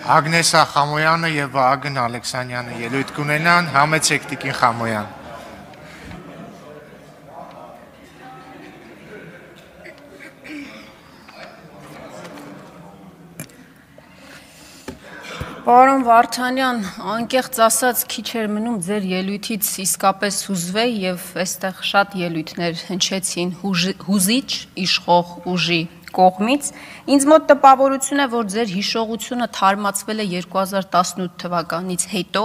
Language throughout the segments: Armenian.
Ագնեսա Խամոյանը եւ Վահագն Ալեքսանյանը ելույթ կունենան, համեցեք Տիկին Խամոյան։ Պարոն Վարդանյան, անկեղծ ասած քիչ էր մնում ձեր ելույթից իսկապես հուզվեի եւ այստեղ շատ ելույթներ հնչեցին հուզիչ իշխող ուժի կողմից։ Ինձ մոտ տպավորություն է, որ ձեր հիշողությունը թարմացվել է 2018 թվականից հետո,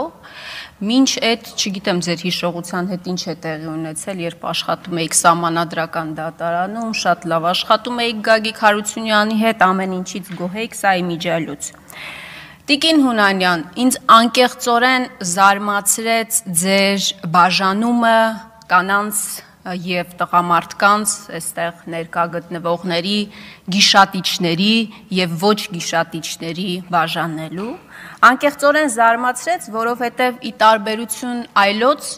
մինչ այդ, չգիտեմ ձեր հիշողության հետ ինչ է տեղի ունեցել, երբ աշխատում էիք Սահմանադրական դատարանում, շատ լավ աշխատում էիք Գագիկ Հարությունյանի հետ, ամեն ինչից գոհ էիք, սա իմիջիալուց։ Տիկին Հունանյան, ինձ անկեղծորեն զարմացրեց ձեր բաժանումը կանանց եւ տղամարդկանց, այստեղ ներկա գտնվողների, գիշատիչների եւ ոչ գիշատիչների բաժանելու։ Անկեղծորեն զարմացրեց, որովհետեւ ի տարբերություն այլոց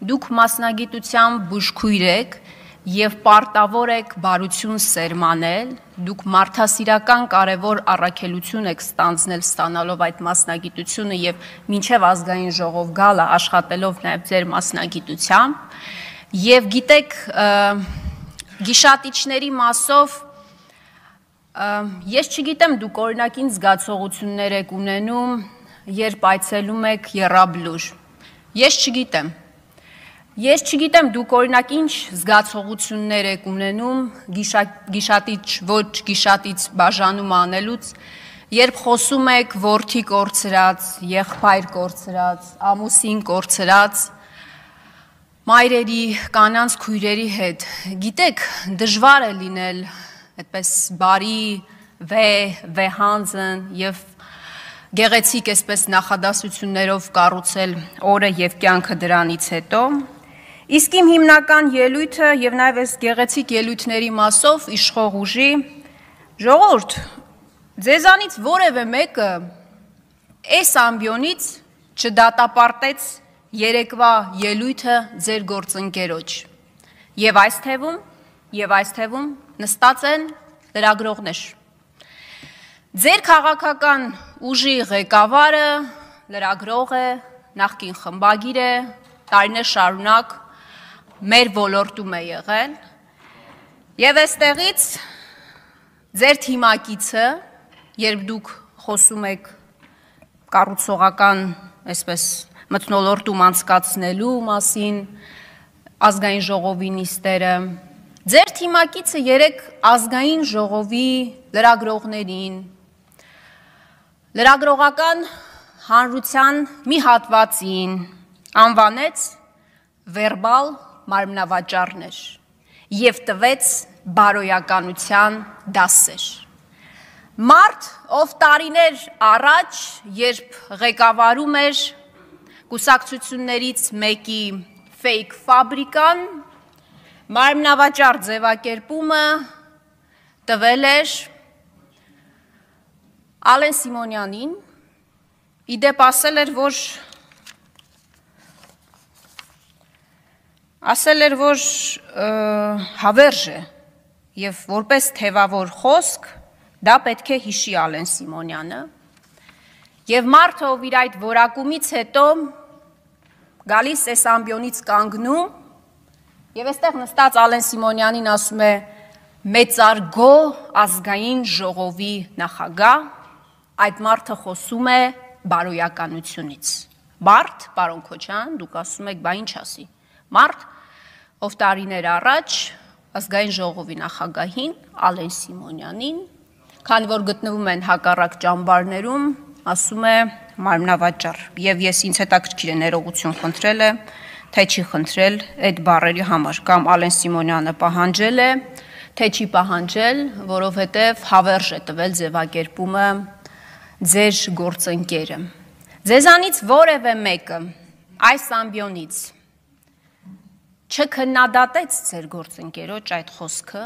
դուք մասնագիտությամբ բուժքույր եք եւ պարտավոր եք բարություն սերմանել, դուք մարդասիրական կարևոր առաքելություն եք ստանձնել այդ մասնագիտությունը եւ մինչեւ ազգային ժողով գալը աշխատելով նաեւ ձեր մասնագիտությամբ եւ գիտեք գիշատիչների մասով ես չգիտեմ դուք օրինակին զգացողություններ եք ունենում, երբ այցելում եք եռաբլուր։ Ես չգիտեմ դուք օրինակ ինչ զգացողություններ եք ունենում գիշատիչ ոչ գիշատիչ բաժանում անելուց, երբ խոսում եք որդի կորցրած, եղբայր կորցրած, ամուսին կորցրած, մայրերի, կանանց քույրերի հետ։ Գիտեք, դժվար է լինել այդպես բարի, վեհանձն եւ գեղեցիկ այսպես նախադասություններով կառուցել օրը եւ կյանքը դրանից հետո։ Իսկ իմ հիմնական ելույթը եւ նաեւ այս գեղեցիկ ելույթների մասով իշխող ուժի ժողովուրդ, ձեզանից որևէ մեկը այս ամբիոնից չդատապարտեց երեկվա ելույթը ձեր գործընկերոջ։ Եվ այս թվում նստած են լրագրողներ։ Ձեր քաղաքական ուժի ղեկավարը լրագրող է, նախկին խմբագիր է, տարիներ շարունակ մեր ոլորտում է եղել եւ այստեղից ձեր թիմակիցը, երբ դուք խոսում եք կառուցողական այսպես մթնոլորտում անցկացնելու մասին ազգային ժողովի նիստերը, ձեր թիմակիցը երեք ազգային ժողովի լրագրողներին լրագրողական հանրության մի հատվածին անվանեց վերբալ մարմնավաճառներ եւ տվեց բարոյականության դասեր։ Մարդ, ով տարիներ առաջ, երբ ղեկավարում էր կուսակցություններից մեկի ֆեյք ֆաբրիկան, մարմնավաճառ ձևակերպումը տվել էր Ալեն Սիմոնյանին, իդեպ ասել էր, որ հավերժ է եւ որպես թևավոր խոսք դա պետք է հիշի Ալեն Սիմոնյանը եւ մարդը ով իր այդ որակումից հետո գալիս այս ամբիոնից կանգնում եւ այստեղ նստած Ալեն Սիմոնյանին ասում է մեծարգո ազգային ժողովի նախագահ, այդ մարդը խոսում է բարոյականությունից։ Մարդ, պարոն Քոչյան, դուք ասում եք, բա ինչ ասի։ Մարդ, ով տարիներ առաջ ազգային ժողովի նախագահին Ալեն Սիմոնյանին, քանի որ գտնվում են հակառակ ճամբարներում, ասում է մարմնավաճառ եւ ես ինձ հետաքրքիր է ներողություն խնդրել է, թե չի խնդրել այդ բառերի համար կամ Ալեն Սիմոնյանը պահանջել է, թե չի պահանջել, որովհետեւ հավերժ է տվել ձևակերպումը ձեր գործընկերը։ Ձեզանից որևէ մեկը այս ամբիոնից չքննադատեց ձեր գործընկերոջ այդ խոսքը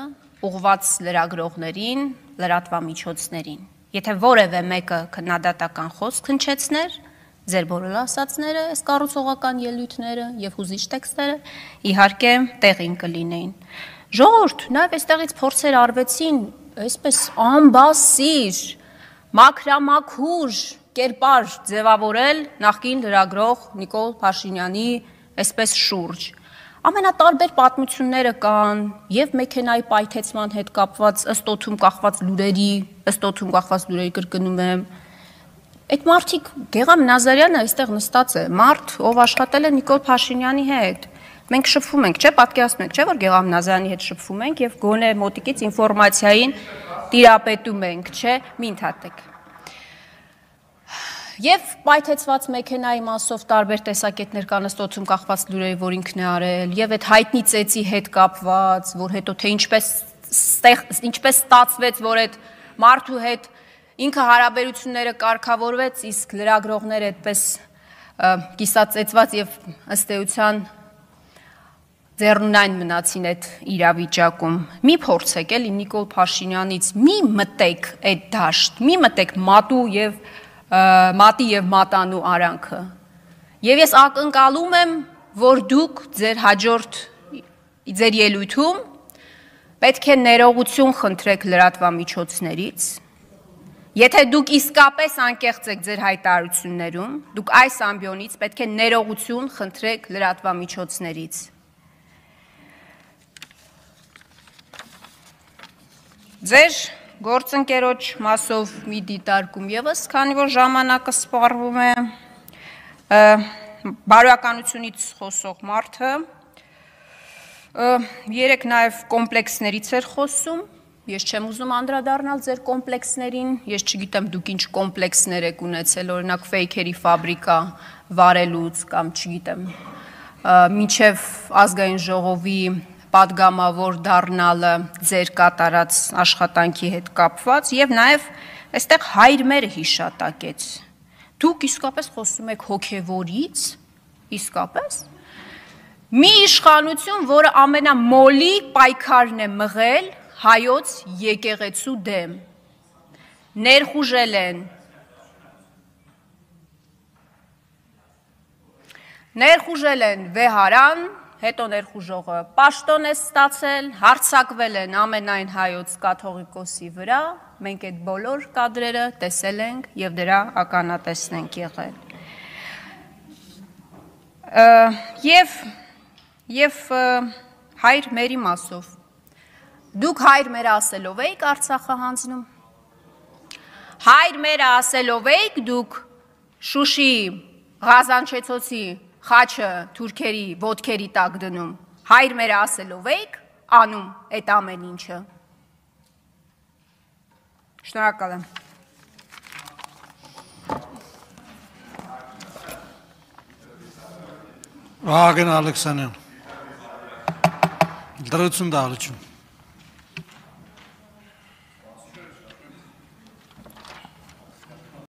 ուղված լրագրողներին, լրատվամիջոցներին։ Եթե որևէ մեկը քննադատական խոսք հնչեցներ, ձեր բոլոր ասածները, այս կառուցողական ելույթները եւ հուզիչ տեքստերը իհարկե տեղին կլինեին։ Ժողովուրդ, նաեւ այստեղից փորձեր արվեցին, այսպես անբասիր, մաքրամաքուր կերպար ձևավորել նախկին լրագրող Նիկոլ Փաշինյանի այսպես շուրջ։ Ամենատարբեր պատմությունները կան եւ մեքենայի պայթեցման հետ կապված ըստ օդում կախված լուրերի կրկնում եմ։ Այդ մարդիկ Գեգամ Նազարյանը այստեղ նստած է, մարդ, ով աշխատել է Նիկոլ Փաշինյանի հետ։ Մենք շփվում ենք, չէ՞, պատկերացնում եք, չէ՞ որ Գեգամ Նազարյանի հետ շփվում ենք եւ գոնե մոտիկից ինֆորմացիային տիրապետում ենք, չէ՞, մի ընդհատեք։ Եվ պայթեցված մեքենայի մասով տարբեր տեսակետներ կան ըստ օդում կախված լուրերի, որ ինքն է արել, եւ այդ հայտնի ծեծի հետ կապված, որ հետո թե ինչպես ստացվեց, որ այդ մարդու հետ ինքը հարաբերությունները կարգավորվեց, իսկ լրագրողները այդպես կիսածեծված եւ ըստ էության ձեռնունայն մնացին այդ իրավիճակում։ Մի փորձեք էլի Նիկոլ Փաշինյանից մի մտեք այդ դաշտ, մի մտեք մատի եւ մատանու արանքը։ Եվ ես ակնկալում եմ, որ դուք ձեր հաջորդ ձեր ելույթում պետք է ներողություն խնդրեք լրատվամիջոցներից։ Եթե դուք իսկապես անկեղծ եք ձեր հայտարարություններում, դուք այս ամբիոնից պետք է ներողություն խնդրեք լրատվամիջոցներից։ Ձեր գործընկերոջ մասով մի դիտարկում եւս, քանի որ ժամանակը սպառվում է, բարոյականությունից խոսող մարդը երեք նաեւ կոմպլեքսներից էր խոսում, ես չեմ ուզում անդրադառնալ ձեր կոմպլեքսներին, ես չգիտեմ դուք ինչ կոմպլեքսներ եք ունեցել, օրինակ ֆեյքերի ֆաբրիկա վարելուց կամ չգիտեմ, մինչև ազգային ժողովի պատգամավոր դառնալը ձեր կատարած աշխատանքի հետ կապված եւ նաեւ այստեղ հայր մերը հիշատակեց։ Դուք իսկապես խոսում եք հոգեվորից, իսկապես մի իշխանություն, որը ամենամոլի պայքարն է մղել հայոց եկեղեցու դեմ, ներխուժել են վեհարան, հետո ներխուժողը պաշտոն է ստացել, հարձակվել են ամենայն հայոց կաթողիկոսի վրա, մենք այդ բոլոր կադրերը տեսել ենք եւ դրա ականատեսն ենք եղել։ Եվ հայր մերի մասով, դուք հայր մերը ասելով էիք Արցախը հանձնում, հայր մերը ասելով էիք դուք Շուշի Ղազանչեցոցի խաչը թուրքերի ոտքերի տակ դնում, հայր մերը ասելով էիք անում այդ ամեն ինչը։ Շնորհակալ եմ։ Վահագն Ալեքսանյան, դրություն դահլիճում։